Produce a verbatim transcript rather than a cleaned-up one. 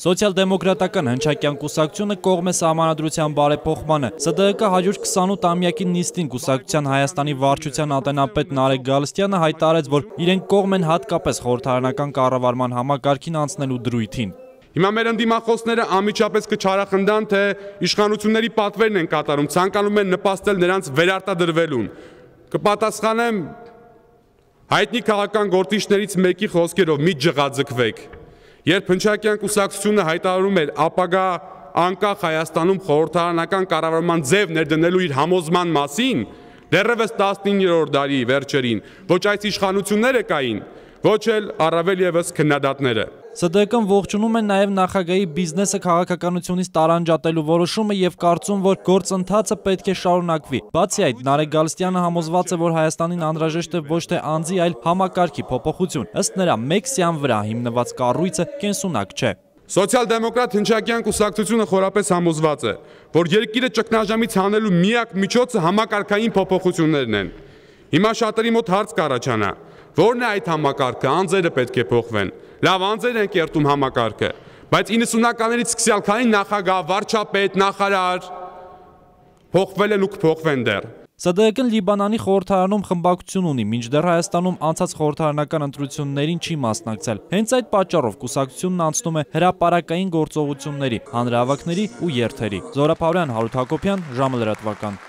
Սոցիալ-դեմոկրատական հնչակյան կուսակցությունը կողմ է սահմանադրության բարեփոխմանը։ Ս D Ը հաջորդ քսանութ-ամյակի նիստին կուսակցության Հայաստանի վարչության ատենապետ Նարեկ Գալստյանը հայտարարեց, որ իրենք կողմ են հատկապես խորհրդարանական կառավարման համակարգին անցնելու դրույթին։ Հիմա մեր ընդդիմախոսները անմիջապես կչարախնդան, թե իշխանությունների պատվերն են կատարում, ցանկանում են նպաստել նրանց վերարտադրվելուն։ Կպատասխանեմ հայտնի քաղաքական գործիչներից մեկի խոսքերով՝ մի ջղաձգվեք։ Երբ հնչակյան կուսակցությունը հայտարարում էր ապագա անկախ Հայաստանում խորհրդարանական կառավարման ձև ներդնելու իր համոզման մասին, դեռևս տասնիններորդ դարի վերջերին ոչ այս իշխանությունները կային, ոչ էլ առավել ևս քննադատները։ Ս D Կ-ն ողջունում է նաև նախագահի բիզնեսը քաղաքականությունից տարանջատելու որոշումը եւ կարծում, որ գործընթացը պետք է շարունակվի։ Բացի այդ, Նարեկ Գալստյանը համոզված է, որ Հայաստանին անհրաժեշտ է ոչ թե անձի, այլ համակարգի փոփոխություն։ Ըստ նրա, մեկ սյան վրա հիմնված կառույցը կենսունակ չէ։ Սոցիալ-դեմոկրատ հնչակյան կուսակցությունը խորապես համոզված է, որ երկիրը ճգնաժամից հանելու միակ միջոցը համակարգային փոփոխություններն են։ Հիմա շատերի մոտ հարց կառաջանա. Որն է այդ համակարգը? Անձերը պետք է փոխվեն։ Լավ, անձեր են կերտում համակարգը, բայց իննսունականներից սկսյալ քանի նախագահ, վարչապետ, նախարար փոխվել են ու կփոխվեն դեռ։ Ս D Կ-ն Լիբանանի խորհրդարանում խմբակցություն ունի, մինչդեռ Հայաստանում անցած խորհրդարանական ընտրություններին չի մասնակցել։ Հենց այդ պատճառով կուսակցությունն անցնում է հրապարակային գործողությունների, հանրահավաքների ու երթերի։ Զորապ Հարության, Հարութ Հակոբյան, ժամը լրատվական։